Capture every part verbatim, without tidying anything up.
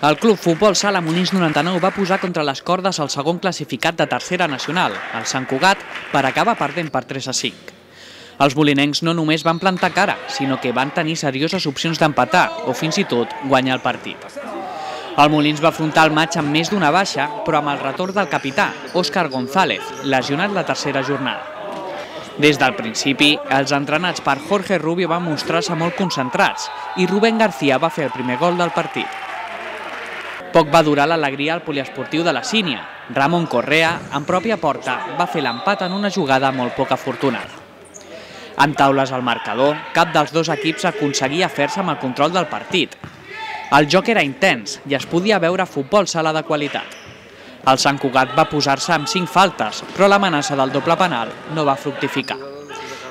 El Club Futbol Sala Molins noranta-nou va posar contra les cordes el segon classificat de tercera nacional, el Sant Cugat, per acabar perdent per tres a cinc. Els molinencs no només van plantar cara, sinó que van tenir serioses opcions d'empatar o fins i tot guanyar el partit. El Molins va afrontar el maig amb més d'una baixa, però amb el retorn del capità, Óscar González, lesionat la tercera jornada. Des del principi, els entrenats per Jorge Rubio van mostrar-se molt concentrats i Rubén García va fer el primer gol del partit. Poc va durar l'alegria al poliesportiu de la Sínia. Ramon Correa, en pròpia porta, va fer l'empat en una jugada molt poc afortunada. En taules al marcador, cap dels dos equips aconseguia fer-se amb el control del partit. El joc era intens i es podia veure futbol sala de qualitat. El Sant Cugat va posar-se amb cinc faltes, però l'amenaça del doble penal no va fructificar.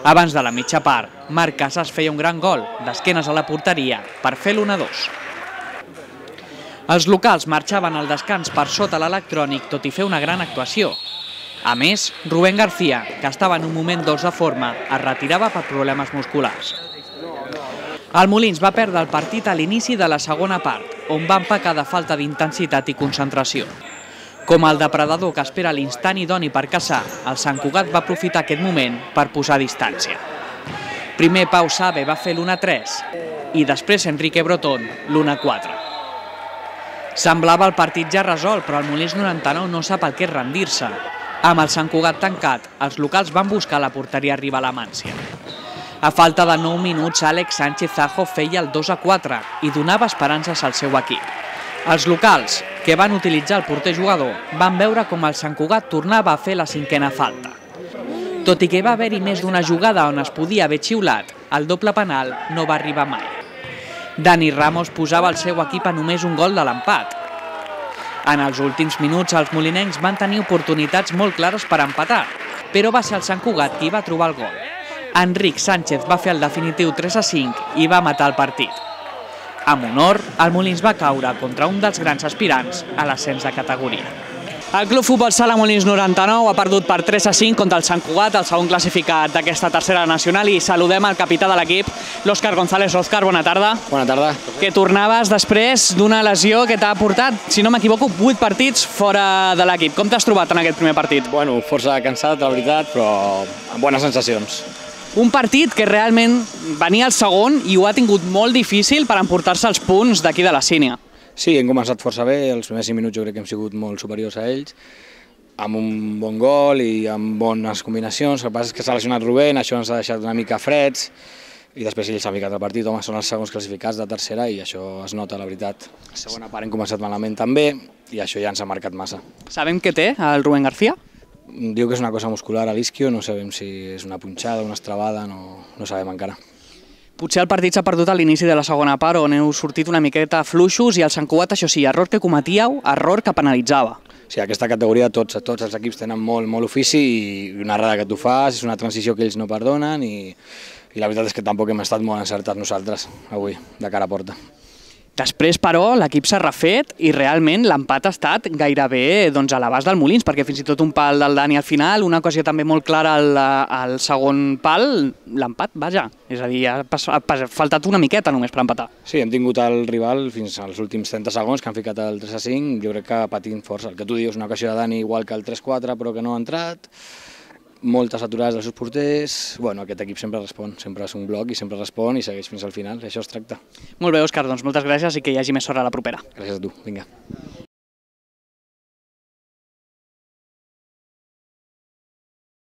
Abans de la mitja part, Marc Casas feia un gran gol, d'esquenes a la porteria, per fer l'u a dos. Els locals marxaven al descans per sota l'electrònic, tot i fer una gran actuació. A més, Rubén García, que estava en un moment dolç de forma, es retirava per problemes musculars. El Molins va perdre el partit a l'inici de la segona part, on van pecar de falta d'intensitat i concentració. Com el depredador que espera l'instant idoni per caçar, el Sant Cugat va aprofitar aquest moment per posar distància. Primer Pau Sabe va fer l'u a tres i després Enrique Brotón l'u a quatre. Semblava el partit ja resolt, però el Molins noranta-nou no sap el que és rendir-se. Amb el Sant Cugat tancat, els locals van buscar la porteria rival a Mància. A falta de nou minuts, Àlex Sánchez Zajo feia el dos a quatre i donava esperances al seu equip. Els locals, que van utilitzar el porter jugador, van veure com el Sant Cugat tornava a fer la cinquena falta. Tot i que va haver-hi més d'una jugada on es podia haver xiulat, el doble penal no va arribar mai. Dani Ramos posava el seu equip a només un gol de l'empat. En els últims minuts, els molinencs van tenir oportunitats molt clares per empatar, però va ser el Sant Cugat qui va trobar el gol. Enric Sánchez va fer el definitiu tres a cinc i va matar el partit. Amb honor, el Molins va caure contra un dels grans aspirants a l'ascens de categoria. El Club Futbol Sala Molins noranta-nou ha perdut per tres a cinc contra el Sant Cugat, el segon classificat d'aquesta tercera nacional, i saludem al capità de l'equip, l'Òscar González. Òscar, bona tarda. Bona tarda. Que tornaves després d'una lesió que t'ha portat, si no m'equivoco, vuit partits fora de l'equip. Com t'has trobat en aquest primer partit? Bueno, força cansat, la veritat, però amb bones sensacions. Un partit que realment venia al segon i ho ha tingut molt difícil per emportar-se els punts d'aquí de la Sínia. Sí, hem començat força bé, els primers cinc minuts jo crec que hem sigut molt superiors a ells, amb un bon gol i amb bones combinacions. El que passa és que s'ha lesionat Rubén, això ens ha deixat una mica freds, i després ells s'han ficat al partit. Home, són els segons classificats de tercera i això es nota, la veritat. La segona part hem començat malament també i això ja ens ha marcat massa. Sabem què té el Rubén García? Diu que és una cosa muscular a l'isquio, no sabem si és una punxada, una estrabada, no, no sabem encara. Potser el partit s'ha perdut a l'inici de la segona part, on heu sortit una miqueta fluixos i el Sant Cugat, això sí, error que cometíeu, error que penalitzava. Sí, aquesta categoria tots, tots els equips tenen molt, molt ofici i una errada que tu fas, és una transició que ells no perdonen i, i la veritat és que tampoc hem estat molt encertats nosaltres avui, de cara a porta. Després, però, l'equip s'ha refet i realment l'empat ha estat gairebé doncs, a l'abast del Molins, perquè fins i tot un pal del Dani al final, una ocasió també molt clara al, al segon pal, l'empat, vaja. És a dir, ha, ha faltat una miqueta només per empatar. Sí, hem tingut el rival fins als últims trenta segons, que han ficat el tres a cinc, jo crec que patint força. El que tu dius, una ocasió de Dani igual que el tres quatre, però que no ha entrat, moltes aturades dels seus porters. Bueno, aquest equip sempre respon, sempre és un bloc i sempre respon i segueix fins al final, això es tracta. Molt bé, Òscar, doncs moltes gràcies i que hi hagi més sort a la propera. Gràcies a tu, vinga.